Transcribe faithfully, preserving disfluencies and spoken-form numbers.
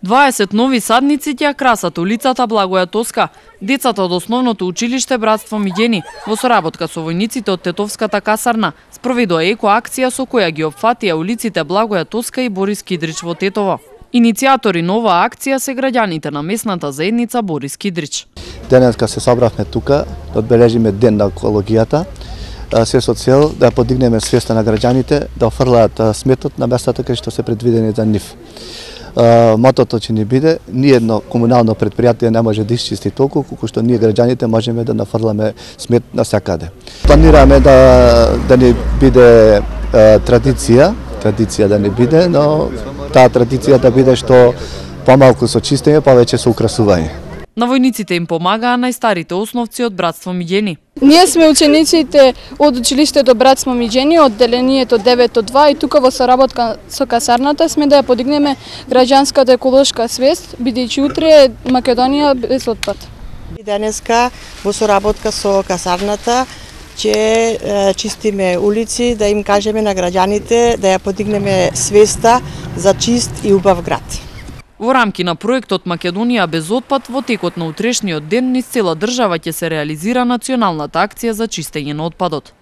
дваесет нови садници ќе красат улицата Благоја Тоска. Децата од основното училиште Братство Миѓени во соработка со војниците од Тетовската касарна спроведува еко-акција со која ги опфатија улиците Благоја Тоска и Борис Кидрич во Тетово. Иницијатори на оваа акција се граѓаните на местната заедница Борис Кидрич. Денеска се собравме тука да одбележиме Ден на екологијата, се со цел да подигнеме свеста на граѓаните да офрлаат сметот на местата кај што се предвидени за нив. Мотото ќе ни биде, ни едно комунално предпријатие не може да исчисти толку колку што ние граѓаните можеме да нафрламе смет насекаде. Планираме да да ни биде е, традиција, традиција да ни биде, но таа традиција да биде што помалку со чистење, повеќе со украсување. На војниците им помагаа најстарите основци од Братство Миѓени. Ние сме учениците од училиштето Братство Миѓени, одделението девет два и тука во соработка со касарната сме да ја подигнеме граѓанската еколошка свест, бидејќи утре е Македонија без отпад. Денеска во соработка со касарната ќе чистиме улици, да им кажеме на граѓаните да ја подигнеме свеста за чист и убав град. Во рамки на проектот Македонија без отпад, во текот на утрешниот ден низ цела држава ќе се реализира националната акција за чистење на отпадот.